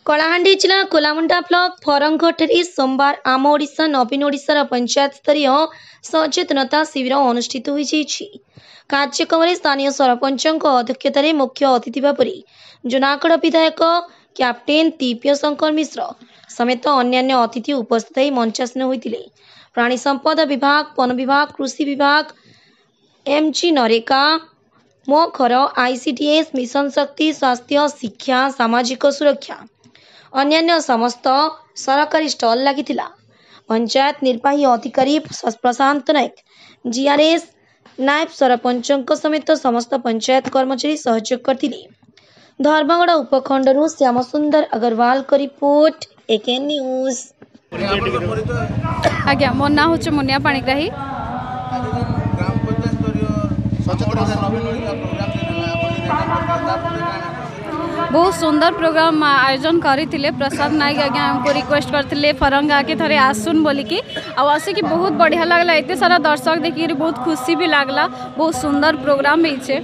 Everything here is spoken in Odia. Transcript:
କଳାହାଣ୍ଡି ଜିଲ୍ଲା କୋଲାମୁଣ୍ଡା ବ୍ଲକ ଫରଙ୍ଗଠାରେ ସୋମବାର ଆମ ଓଡ଼ିଶା ନବୀନ ଓଡ଼ିଶାର ପଞ୍ଚାୟତ ସ୍ତରୀୟ ସଚେତନତା ଶିବିର ଅନୁଷ୍ଠିତ ହୋଇଯାଇଛି। କାର୍ଯ୍ୟକ୍ରମରେ ସ୍ଥାନୀୟ ସରପଞ୍ଚଙ୍କ ଅଧ୍ୟକ୍ଷତାରେ ମୁଖ୍ୟ ଅତିଥି ଭାବରେ ଜୁନାଗଡ଼ ବିଧାୟକ କ୍ୟାପ୍ଟେନ୍ ଦିବ୍ୟ ଶଙ୍କର ମିଶ୍ର ସମେତ ଅନ୍ୟାନ୍ୟ ଅତିଥି ଉପସ୍ଥିତ ହୋଇ ମଞ୍ଚାସୀନ ହୋଇଥିଲେ। ପ୍ରାଣୀ ସମ୍ପଦ ବିଭାଗ, ବନ ବିଭାଗ, କୃଷି ବିଭାଗ, ଏମ୍ଜି ନରେଗା, ମୋ ଘର, ଆଇସିଡିଏସ୍, ମିଶନ ଶକ୍ତି, ସ୍ୱାସ୍ଥ୍ୟ, ଶିକ୍ଷା, ସାମାଜିକ ସୁରକ୍ଷା, ଅନ୍ୟାନ୍ୟ ସମସ୍ତ ସରକାରୀ ଷ୍ଟଲ୍ ଲାଗିଥିଲା। ପଞ୍ଚାୟତ ନିର୍ବାହୀ ଅଧିକାରୀ ପ୍ରଶାନ୍ତ ନାୟକ, ଜିଆର୍ଏସ୍, ନାଏବ ସରପଞ୍ଚଙ୍କ ସମେତ ସମସ୍ତ ପଞ୍ଚାୟତ କର୍ମଚାରୀ ସହଯୋଗ କରିଥିଲେ। ଧର୍ମଗଡ଼ ଉପଖଣ୍ଡରୁ ଶ୍ୟାମସୁନ୍ଦର ଅଗରୱାଲଙ୍କ ରିପୋର୍ଟ, ଏକେ ନ୍ୟୁଜ୍। ଆଜ୍ଞା, ମୋ ନାଁ ହେଉଛି ମୁନିଆ ପାଣିଗ୍ରାହୀ। ଆଜି ଯେନ୍ ଗ୍ରାମ ପଞ୍ଚାୟତ ସ୍ତରୀୟ ସଚେତନତା ନବୀନ ଓଡ଼ିଶା ପ୍ରୋଗ୍ରାମ ହେଲା, ଆପଣ ଯେନ୍ ତାର କାଣା? ବହୁତ ସୁନ୍ଦର ପ୍ରୋଗ୍ରାମ ଆୟୋଜନ କରିଥିଲେ। ପ୍ରସାଦ ନାୟକ ଆଜ୍ଞା ଆମକୁ ରିକ୍ୱେଷ୍ଟ କରିଥିଲେ ଫରଙ୍ଗାକେ ଥରେ ଆସୁନ୍ ବୋଲିକି, ଆଉ ଆସିକି ବହୁତ ବଢ଼ିଆ ଲାଗଲା। ଏତେ ସାରା ଦର୍ଶକ ଦେଖିକିରି ବହୁତ ଖୁସି ବି ଲାଗଲା। ବହୁତ ସୁନ୍ଦର ପ୍ରୋଗ୍ରାମ ହେଇଛେ।